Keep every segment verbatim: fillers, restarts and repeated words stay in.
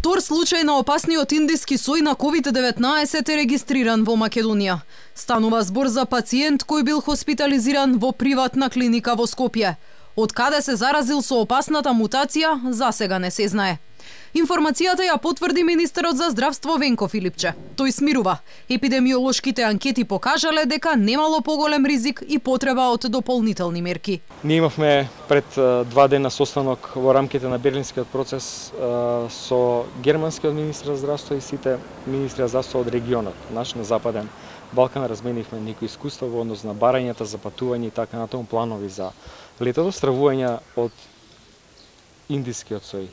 Втор случај на опасниот индиски сој на ковид деветнаесет е регистриран во Македонија. Станува збор за пациент кој бил хоспитализиран во приватна клиника во Скопје. Од каде се заразил со опасната мутација, засега не се знае. Информацијата ја потврди министерот за здравство Венко Филипче. Тој смирува. Епидемиолошките анкети покажале дека немало поголем ризик и потреба од дополнителни мерки. Ние имавме пред два дена состанок во рамките на Берлинскиот процес со германскиот министер за здравство и сите министри за здравство од регионот, наш на Западен Балкан. Разменивме некои искуства во однос на барањата за патување и така натаму, планови за летото, стравување од индискиот сој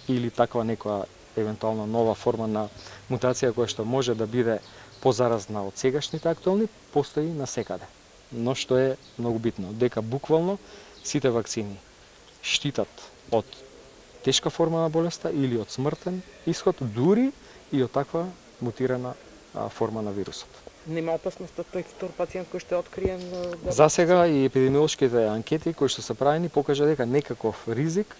или таква некоја евентуална нова форма на мутација која што може да биде позаразна од сегашните актуелни, постои насекаде. Но што е многу битно, дека буквално сите вакцини штитат од тешка форма на болеста или од смртен исход, дури и од таква мутирана а, форма на вирусот. Нема опасност од тој втор пациент кој што е откриен? Да... За сега и епидемиолошките анкети кои што се правени покажа дека некаков ризик,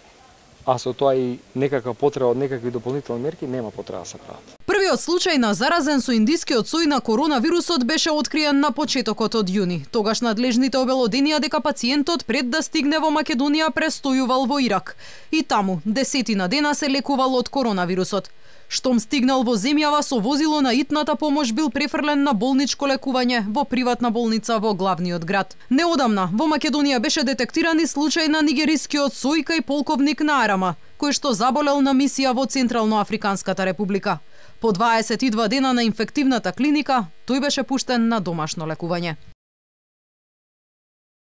а со тоа и некаква потреба од некакви дополнителни мерки, нема потреба да се прават. Првиот случај на заразен со индискиот сој на коронавирусот беше откриен на почетокот од јуни. Тогаш надлежните обелоденија дека пациентот пред да стигне во Македонија престојувал во Ирак. И таму десетина дена се лекувал од коронавирусот. Штом стигнал во земјава со возило на итната помош бил префрлен на болничко лекување во приватна болница во главниот град. Неодамна во Македонија беше детектиран и случај на нигерискиот сој кај полковник Наарама, кој што заболел на мисија во Централно-Африканската република. По дваесет и два дена на инфективната клиника, тој беше пуштен на домашно лекување.